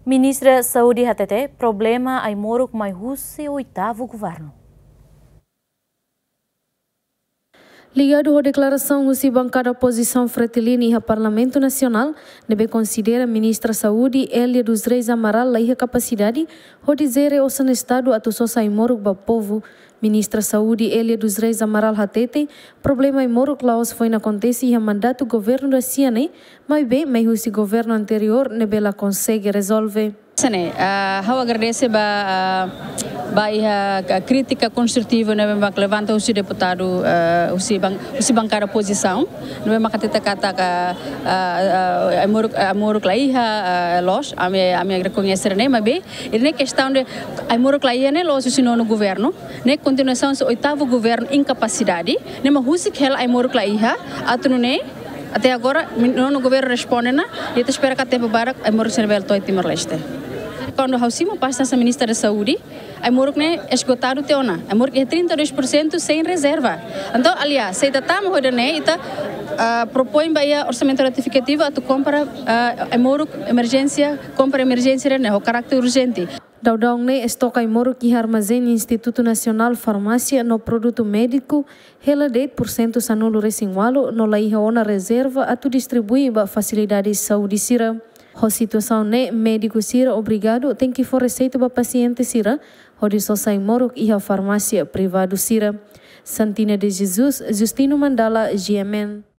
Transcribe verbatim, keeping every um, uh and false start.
Ministra Saúde hatete, problema ai-moruk mai husi oitavu governu. Ligadu ho deklarasaun husi bankada opozisaun Fretilin iha Parlamentu Nasionál, ne'ebé konsidera Ministra Saúde Elia dos Reis Amaral laiha kapasidade hodi jere osan Estadu atu sosa ai-moruk ba povu. Ministra Saúde Elia dos Reis Amaral hatete, problema ai-moruk la'ós foin akontese iha mandatu governu ida-ne'e, maibé mai husi governu anteriór ne'ebé la konsege rezolve. Sene, ah, ha'u agradese ba, ah, ba iha ka-, krítika konstrutiva ne'ebé mak levanta husi deputadu, ah, husi ban-, husi bankada opozisaun, ne'ebé mak hatete katak, ah, ah, ah, ai-moruk, ai-moruk laiha, ah, loos, ami, ami rekoñese ne'e, maibé, ne'e kestaun de ai-moruk laiha ne'e la'ós husi nonu governu, ne'e kontinuasaun husi oitavu governu inkapasidade, ne'e mak husik hela ai-moruk laiha, atu nune'e, até agora, mi-, nonu governu responde ona, i ita espera katak tempu badak, ai-moruk sira bele to'o Timor-Leste. Kuandu ha'u simu pasta hanesan Ministra da Saúde, ai-moruk ne'e esgotadu tiha ona. Ai-moruk iha trinta e dois por cento sem reserva. Entaun, aliás, se ita tama ho ida-ne'e, ita, ah, propoin ba iha orsamentu retifikativu atu kompra, ah, ai-moruk emerjénsia, kompra emerjénsia ne'e, ho karáter urjente. Daudaun ne'e, estoka ai-moruk iha armazén Institutu Nasionál Farmásia no Produtu Médiku hela de'it pursentu sanulu-resin-ualu no laiha ona rezerva atu distribui ba fasilidade saúde sira. Ho situasaun ne'e, médiku sira obrigadu tenke fó reseitu ba pasiente sira hodi sosa ai-moruk iha farmásia privadu sira. Santina de Jesus, Justino Mandala, G M N.